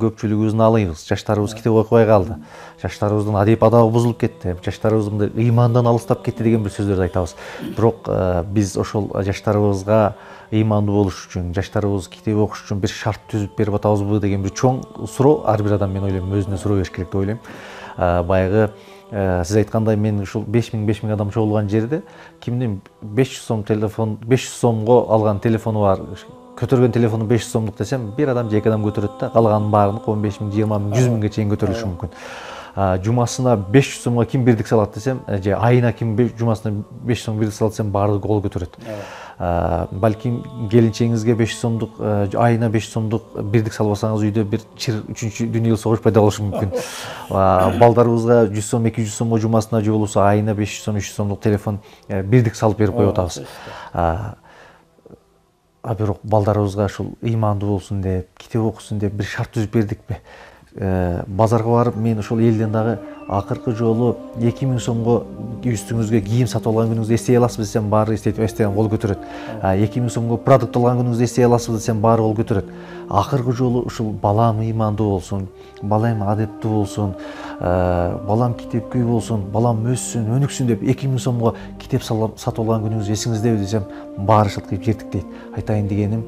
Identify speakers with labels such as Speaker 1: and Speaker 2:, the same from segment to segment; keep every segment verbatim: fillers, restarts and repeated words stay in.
Speaker 1: көпчүлүгүбүз наалыйбыз. Жаштарыбыз китеп окубай калды. Жаштарыбыздын адеп адабы бузулуп кетти. Жаштарыбыз мындай ыймандан алыстап кетти деген бир сөздөрдү айтабыз. Бирок биз ошол жаштарыбызга ыймандуу болуш үчүн, жаштарыбыз китеп окуш үчүн бир шарт түзүп берип атабызбы деген бир чоң суроо ар бир адам, мен ойлойм, өзүнө суроо бериш керек деп ойлойм. Баягы сиз айткандай, мен ушул беш миң беш миң адам чогулган жерде кимдин беш жүз сом телефон, беш жүз сомго алган телефону бар, көтөргөн телефону беш жүз сомдук десем, бир адам же эки адам көтөрөт да, калганын баарын он беш миң, жыйырма миң, жүз миңге чейин көтөрүлүшү мүмкүн. Жумасына беш жүз сомго ким бирдик салат десем, же айына ким жумасына беш жүз сом бирдик салат десем, баардыгы кол көтөрөт. Балким келинчегиңизге беш жүз сомдук, айына беш жүз сомдук бирдик салбасаңыз, үйдө бир чыр үчүнчү дүйнөлүк согуш пайда болушу мүмкүн. Балдарыбызга жүз сом, эки жүз сомго жумасына, же болбосо айына беш жүз сом, үч жүз сомдук телефон бирдик салып берип коюп атабыз. А бирок балдарыбызга ушул ыймандуу болсун деп, китеп окусун деп бир шарт түзүп бердикпи? Базарга барып, мен ошол элден дагы акыркы жолу эки миң сомго үстүңүзгө кийим сатып алган күнүңүздү эстей аласызбы десем, баары эстеген кол көтөрөт. эки миң сомго продукт алган күнүңүздү эстей аласызбы десем, баары кол көтөрөт. Акыркы жолу ушул балам ыймандуу болсун, балам адептүү болсун, балам китепкөй болсун, балам өссүн, өнүксүн деп эки миң сомго китеп сатып алган күнүңүз эсиңиздеби десем, баары шылтыйып жертик дейт. Айтайын дегеним,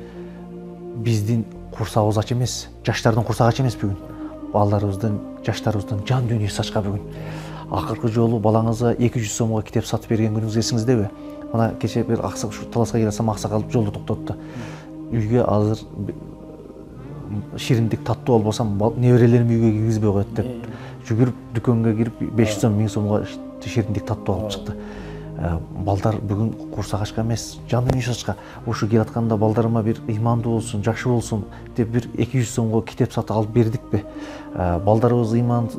Speaker 1: биздин курсагыбыз ач эмес, жаштардын курсагы ач эмес бүгүн. Балдарыбыздын, жаштарыбыздын жан дүйнөсү ачка бүгүн. Акыркы жолу балаңызга эки жүз сомго китеп сатып берген күнүңүз эсиңиздеби? Мына кече бир аксак ушу таласка келсем, аксакал жолдо токтотту. Үйгө азыр шириндик таттуу албасам, неберелерим үйгө киргизбей коет деп жүгүрүп дүкөнгө кирип беш жүз сом, миң сомго шириндик таттуу алып чыкты. Балдар бүгүн курсак ачка эмес, жан дүйнөсү ачка. Ушу келатканда балдарыма бир ыймандуу болсун, жакшы болсун деп бир эки жүз сомго китеп сатып алып бердикпи? Балдарыбыз ыйман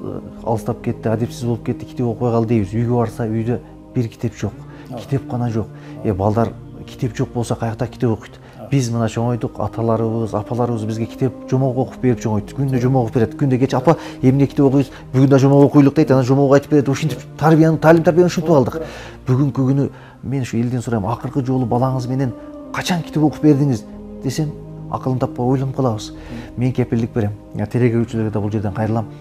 Speaker 1: алыстап кетти, адепсиз болуп кетти, китеп окубай калды дейбиз. Үйгө барса, үйдө бир китеп жок, китепкана жок. Э балдар китеп жок болсо каякта китеп окуйт? Биз мына чоңойдук, аталарыбыз, апаларыбыз бизге китеп жомок окуп берип чоңойту. Күндө жомок окуп берет. Күндө кеч апа, эмне китеп окуйбуз? Бүгүн да жомок окуйлук дейт, анан жомок айтып берет. Ушинтип тарбияны, талим тарбияны ушинтип алдык. Бүгүнкү күнү мен ушу элден сурайм, акыркы жолу балаңыз менен качан китеп окуп бердиңиз десем, акылын таппай ойлонуп калабыз. Мен кепилдик берем. Телекөрүүчүлөргө да бул жерден кайрылам.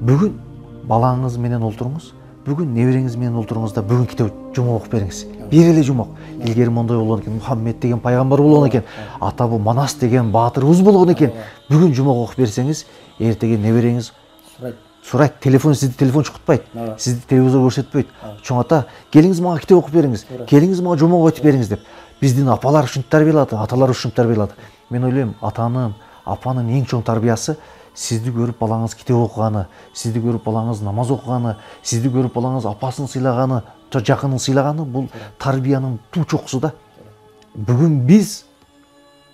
Speaker 1: Бүгүн балаңыз менен олтуруңуз. Бүгүн небереңиз менен олтуруңуз да бүгүн китеп жомок окуп бериңиз. Бир эле жомок. Илгери мондой болгон экен, Мухаммед деген пайгамбар болгон экен, атабы Манас деген баатырыбыз болгон экен. Бүгүн жомок окуп берсеңиз, эртеге небереңиз сурайт, телефон сизди телефон чукутпайт, сизди телевизор көрсөтпөйт. Чоң ата, келиңиз мага китеп окуп бериңиз, келиңиз мага жомок айтып бериңиз деп. Биздин апалар ушинтип тарбиялады, аталар ушинтип тарбиялады. Мен ойлойм, атанын, апанын эң чоң тарбиясы сизди көрүп балаңыз китеп окуганы, сизди көрүп балаңыз намаз окуганы, сизди көрүп балаңыз апасын сыйлаганы, жакынын сыйлаганы, бул тарбиянын туу чокусу да. Бүгүн биз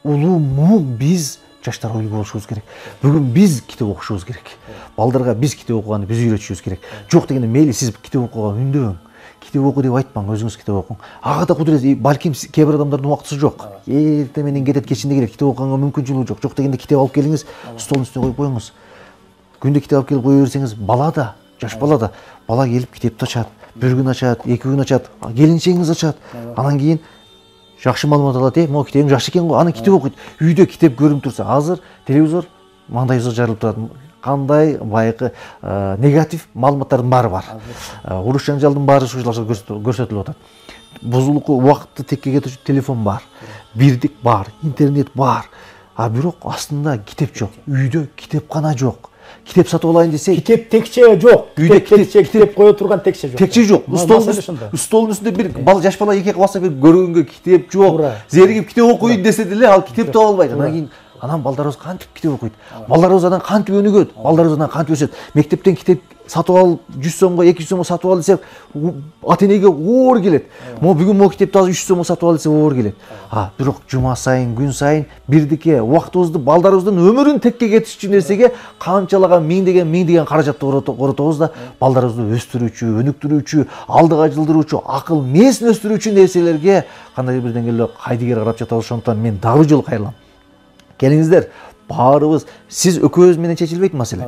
Speaker 1: улуу муң, биз жаштар үлгү болушубуз керек. Бүгүн биз китеп окушубуз керек. Балдарга биз китеп окуганы биз үйрөтүшүбүз керек. Жок дегенде мейли сиз китеп окууга үндөң. Китеп оку деп айтпаң, өзүңүз китеп окуң. Ага да кудурет, балким кээ бир адамдардын убактысы жок. Эрте менен кетет, кечинде келет, китеп окуганга мүмкүнчүлүгү жок. Жок дегенде китеп алып келиңиз, столдун үстүнө коюп коюңуз. Күндө китеп алып келип кое берсеңиз, бала да, жаш бала да, бала келип китепти ачат, бир күн ачат, эки күн ачат, келинчегиңиз ачат. Анан кийин жакшы маалымат алат, э, могу китебиң жакшы экен го, аны китеп окуйт. Үйдө китеп көрүнүп турса, азыр телевизор мандайыбызга жарылып турат. Кандай байкы негатив маалыматтардын баары бар. Уруш жаңжалдын баары ушуларга көрсөтүлүп атат. Бузулуку убакытты текке кетирүүчү телефон бар, бирдик бар, интернет бар. А бирок астында китеп жок. Үйдө китепкана жок. Китеп сатып алайын десе,
Speaker 2: китеп текче жок. Үйдө китеп китеп кое турган текче жок.
Speaker 1: Текче жок. Столдун үстүндө бир бала, жаш бала эки кабаса бир көргөнгө китеп жок. Зеригип китеп окуйт десе деле, ал китеп таба албайт. Анан кийин анан балдарыбыз кантип китеп окуйт? Балдарыбыз анан кантип өнүгөт? Балдарыбыз анан кантип өсөт? Мектептен китеп сатып алып, жүз сомго, эки жүз сомго сатып ал десек, ата-энеге оор келет. Могу бүгүн могу китепти азыр үч жүз сомго сатып ал десе оор келет. А бирок жума сайын, күн сайын бирдике убактыбызды, балдарыбыздын өмүрүн текке кетирүүчү нерсеге канчалаган миңдеген миңдеген каражатты коротобуз да, балдарыбызды өстүрүүчү, өнүктүрүүчү, алдыга жылдыруучу, акыл мээсин өстүрүүчү нерселерге кандай бир деңгээлде кайдыгер карап жатабыз. Ошондуктан мен дагы жолу кайрылам. Келиңиздер, баарыбыз, сиз экөөбүз менен чечилбейт маселе.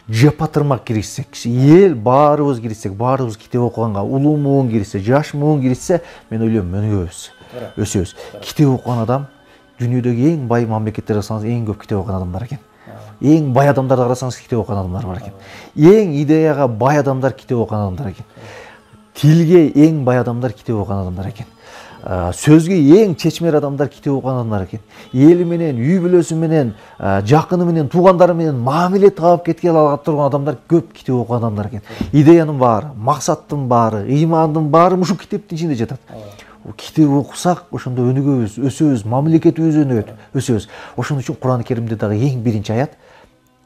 Speaker 1: Жапа тырмак киришсек, эл баарыбыз киришсек, баарыбыз китеп окуганга, улуу муун киришсе, жаш муун киришсе, мен ойлойм өнүгөбүз, өсөбүз. Китеп окуган адам дүйнөдөгү эң бай мамлекеттерге салсаңыз, эң көп китеп окуган адамдар экен. эң бай адамдарды карасаңыз китеп окуган адамдар бар экен. Эң идеяга бай адамдар китеп окуган адамдар экен. Тилге эң бай адамдар китеп окуган адамдар экен. Сөзгө эң чечмер адамдар китеп окуган адамдар экен. Эли менен, үй бүлөсү менен, жакыны менен, туугандары менен мамиле таап кетке ала турган адамдар көп китеп окуган адамдар экен. Идеянын баары, максаттын баары, ыймандын баары ушу китептин ичинде жатат. Китеп окусак, ошондо өнүгөбүз, өсөбүз, мамлекетибиз өнүгөт, өсөбүз. Ошон үчүн Кур'ан Керимде дагы эң биринчи аят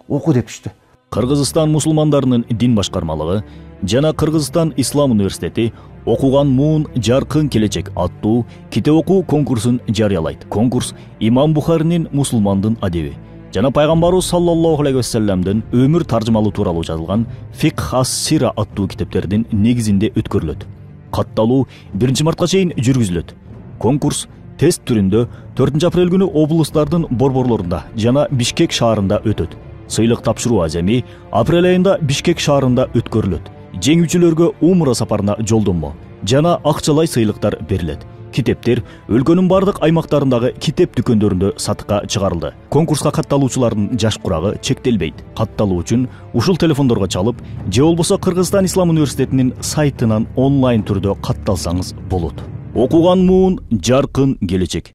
Speaker 1: оку деп түштү.
Speaker 3: Кыргызстан мусулмандарынын дин башкармалыгы жана Кыргызстан Ислам университети окуган муун жаркын келечек аттуу китеп окуу конкурсун жарыялайт. Конкурс Имам Бухаринин Мусулмандын адеби жана пайгамбарыбыз саллаллаху алейхи вассаламдын өмүр таржымалуу тууралуу жазылган Фикх ас-Сира аттуу китептердин негизинде өткөрүлөт. Катталуу биринчи мартка чейин жүргүзүлөт. Конкурс тест түрүндө төртүнчү апрель күнү облустардын борборлорунда жана Бишкек шаарында өтөт. Сыйлык тапшыруу аземи апрель айында Бишкек шаарында өткөрүлөт. Жеңүүчүлөргө умра сапарына жолдонмо жана акчалай сыйлыктар берилет. Китептер өлкөнүн бардык аймактарындагы китеп дүкөндөрүндө сатыкка чыгарылды. Конкурска катталуучулардын жаш курагы чектелбейт. Катталуу үчүн ушул телефондорго чалып, же болбосо Кыргызстан Ислам университетинин сайтынан онлайн түрдө катталсаңыз болот. Окуган муун жаркын келечек.